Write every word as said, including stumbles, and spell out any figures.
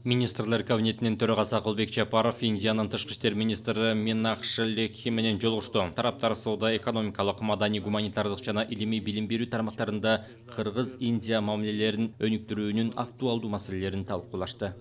Министрлер кабинетинин төрагасы Акылбек Жапаров Индиянын тышкы иштер министри Минакши Лекхи менен жолугушту. Тараптар соода, экономикалык, маданий, гуманитардык жана илимий билим берүү тармактарында Кыргыз-Индия мамилелерин өнүктүрүүнүн актуалдуу маселелерин талкуулашты.